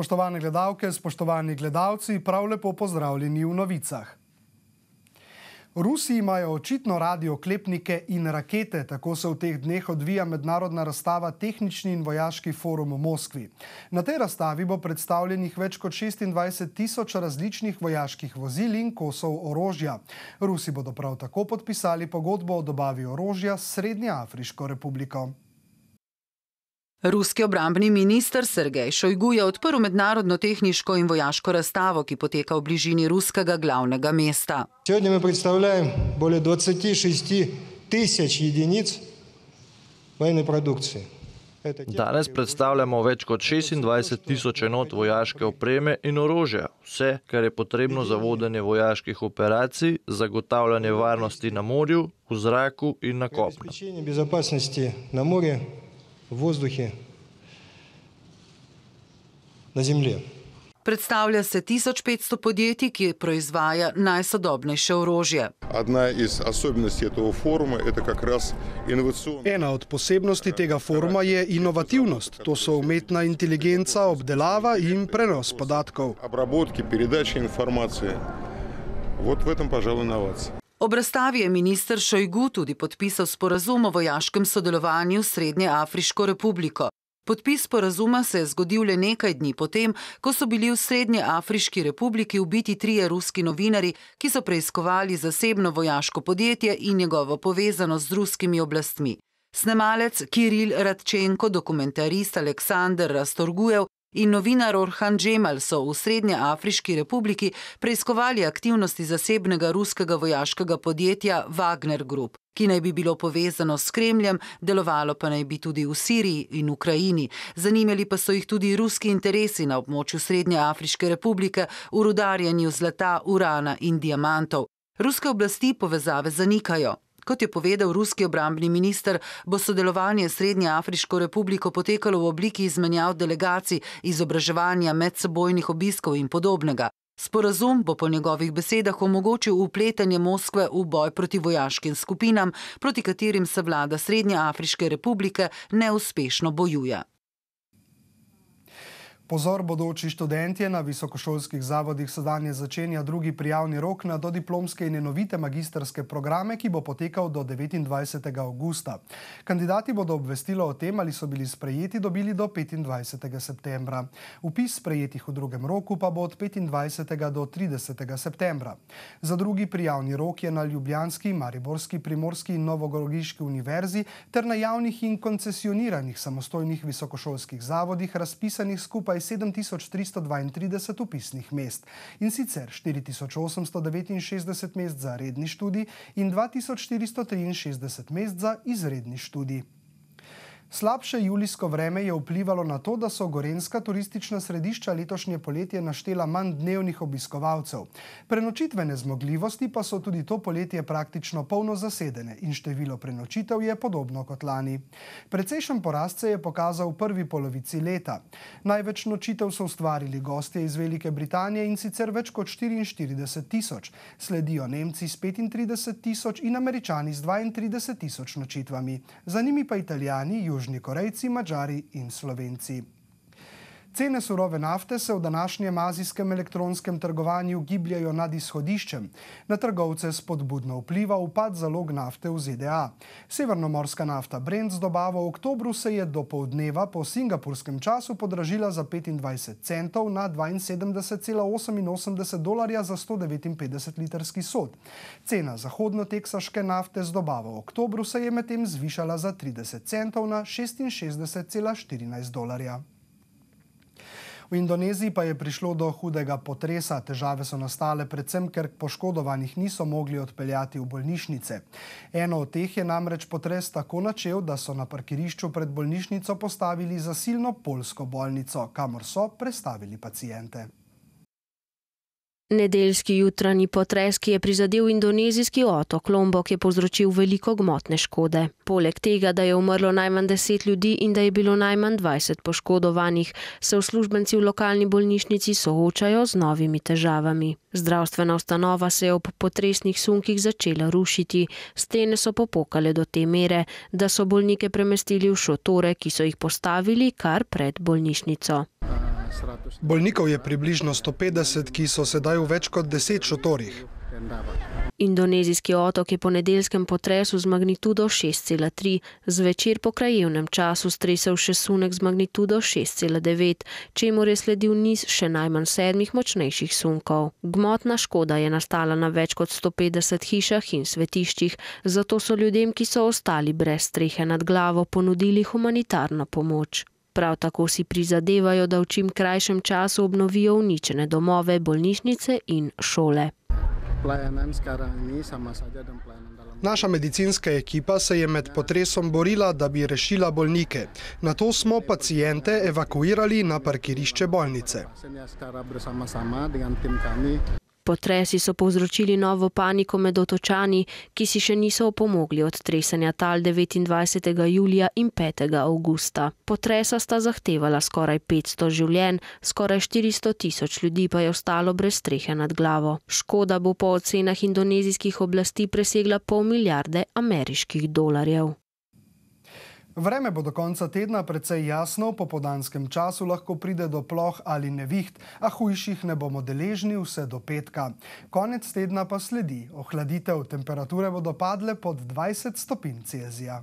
Spoštovane gledalke, spoštovani gledalci, prav lepo pozdravljeni v novicah. Rusi imajo očitno radi oklepnike in rakete, tako se v teh dneh odvija mednarodna razstava Tehnični in vojaški forum v Moskvi. Na tej razstavi bo predstavljenih več kot 26.000 različnih vojaških vozil in kosov orožja. Rusi bodo prav tako podpisali pogodbo o dobavi orožja s Srednjeafriško republiko. Ruski obrambni minister Sergej Šojgu je odprl mednarodno tehniško in vojaško razstavo, ki poteka v bližini ruskega glavnega mesta. Сегодня мы представляем более 26 тысяч единиц военной продукции. Danes predstavljamo več kot 26.000 enot vojaške opreme in orožja. Vse, kar je potrebno za vodenje vojaških operacij, zagotavljanje varnosti na morju, v zraku in na kopnu. Обеспечение безопасности на море, в воздухе, на земле. Predstavlja se 1500 podjetij, ki proizvaja najsodobnejše orožje. Ena od posebnosti tega foruma je inovativnost. To so umetna inteligenca, obdelava in prenos podatkov. Ob razstavi je minister Šojgu tudi podpisal sporazum o vojaškem sodelovanju s Srednjeafriško republiko. Podpis sporazuma se je zgodil le nekaj dni potem, ko so bili v Srednjeafriški republiki ubiti 3 ruski novinarji, ki so preiskovali zasebno vojaško podjetje in njegovo povezanost z ruskimi oblastmi. Snemalec Kiril Radčenko, dokumentarist Aleksandar Rastorgujev in novinar Orhan Džemal so v Srednjeafriški republiki preiskovali aktivnosti zasebnega ruskega vojaškega podjetja Wagner Group, ki naj bi bilo povezano s Kremljem, delovalo pa naj bi tudi v Siriji in Ukrajini. Zanimali pa so jih tudi ruski interesi na območju Srednjeafriške republike v rudarjenju zlata, urana in diamantov. Ruske oblasti povezave zanikajo. Kot je povedal ruski obrambni minister, bo sodelovanje s Srednjeafriško republiko potekalo v obliki izmenjav delegacij, izobraževanja, medsebojnih obiskov in podobnega. Sporazum bo po njegovih besedah omogočil vpletanje Moskve v boj proti vojaškim skupinam, proti katerim se vlada Srednjeafriške republike neuspešno bojuje. Pozor, bodoči študentje, na visokošolskih zavodih se danes začenja drugi prijavni rok na dodiplomske in enovite magistrske programe, ki bo potekal do 29. avgusta. Kandidati bodo obvestilo o tem, ali so bili sprejeti, dobili do 25. septembra. Vpis sprejetih v drugem roku pa bo od 25. do 30. septembra. Za drugi prijavni rok je na ljubljanski, mariborski, primorski in novogoriški univerzi ter na javnih in koncesioniranih samostojnih visokošolskih zavodih razpisanih skupaj 7332 vpisnih mest, in sicer 4869 mest za redni študij in 2463 mest za izredni študij. Slabše julijsko vreme je vplivalo na to, da so gorenjska turistična središča letošnje poletje naštela manj dnevnih obiskovalcev. Prenočitvene zmogljivosti pa so tudi to poletje praktično polno zasedene in število prenočitev je podobno kot lani. Precejšen porast se je pokazal v prvi polovici leta. Največ nočitev so ustvarili gostje iz Velike Britanije, in sicer več kot 44.000. Sledijo Nemci s 35.000 in Američani s 32.000 nočitvami. Za njimi pa Italijani, Južni Korejci, Madžari in Slovenci. Cene surove nafte se v današnjem azijskem elektronskem trgovanju gibljajo nad izhodiščem. Na trgovce spodbudno vpliva upad zalog nafte v ZDA. Severnomorska nafta Brent z dobavo v oktobru se je do poldneva po singapurskem času podražila za 25 centov na $72,88 za 159 litrski sod. Cena zahodno-teksaške nafte z dobavo v oktobru se je medtem zvišala za 30 centov na $66,14. V Indoneziji pa je prišlo do hudega potresa. Težave so nastale predvsem, ker poškodovanih niso mogli odpeljati v bolnišnice. Eno od teh je namreč potres tako načel, da so na parkirišču pred bolnišnico postavili zasilno poljsko bolnico, kamor so prestavili paciente. Nedeljski jutranji potres, ki je prizadel indonezijski otok Lombok, je povzročil veliko gmotne škode. Poleg tega, da je umrlo najmanj 10 ljudi in da je bilo najmanj 20 poškodovanih, se uslužbenci v lokalni bolnišnici soočajo z novimi težavami. Zdravstvena ustanova se je ob potresnih sunkih začela rušiti. Stene so popokale do te mere, da so bolnike premestili v šotore, ki so jih postavili kar pred bolnišnico. Bolnikov je približno 150, ki so sedaj v več kot 10 šotorih. Indonezijski otok je po nedeljskem potresu z magnitudo 6,3 zvečer po krajevnem času stresel še sunek z magnitudo 6,9, čemur je sledil niz še najmanj 7 močnejših sunkov. Gmotna škoda je nastala na več kot 150 hišah in svetiščih, zato so ljudem, ki so ostali brez strehe nad glavo, ponudili humanitarno pomoč. Prav tako si prizadevajo, da v čim krajšem času obnovijo uničene domove, bolnišnice in šole. Naša medicinska ekipa se je med potresom borila, da bi rešila bolnike. Nato smo paciente evakuirali na parkirišče bolnice. Potresi so povzročili novo paniko med Otočani, ki si še niso opomogli od tresenja tal 29. julija in 5. avgusta. Potresa sta zahtevala skoraj 500 življenj, skoraj 400 tisoč ljudi pa je ostalo brez strehe nad glavo. Škoda bo po ocenah indonezijskih oblasti presegla $500 milijarde ameriških dolarjev. Vreme bo do konca tedna precej jasno, v popoldanskem času lahko pride do ploh ali neviht, a hujših ne bomo deležni vse do petka. Konec tedna pa sledi ohladitev, temperature bodo padle pod 20 stopinj Celzija.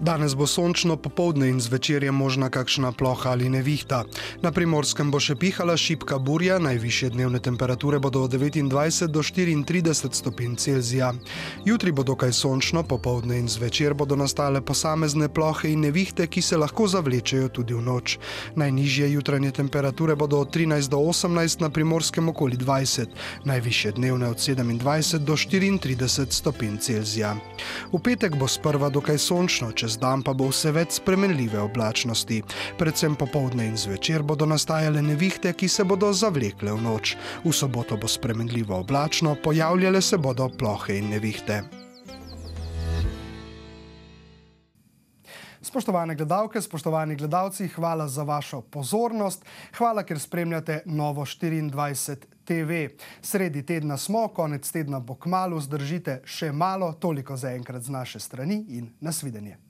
Danes bo sončno, popoldne in zvečer je možna kakšna ploha ali nevihta. Na Primorskem bo še pihala šibka burja, najvišje dnevne temperature bodo od 29 do 34 stopinj Celzija. Jutri bo dokaj sončno, popoldne in zvečer bodo nastale posamezne plohe in nevihte, ki se lahko zavlečejo tudi v noč. Najnižje jutranje temperature bodo od 13 do 18, na Primorskem okoli 20, najvišje dnevne od 27 do 34 stopinj Celzija. V petek bo sprva dokaj sončno, čez dan pa bo vse več spremenljive oblačnosti. Predvsem popoldne in zvečer bodo nastajale nevihte, ki se bodo zavlekle v noč. V soboto bo spremenljivo oblačno, pojavljale se bodo plohe in nevihte. Spoštovane gledalke, spoštovani gledalci, hvala za vašo pozornost. Hvala, ker spremljate Novo24 TV. Sredi tedna smo, konec tedna bo kmalu, zdržite še malo, toliko zaenkrat z naše strani in nasvidenje.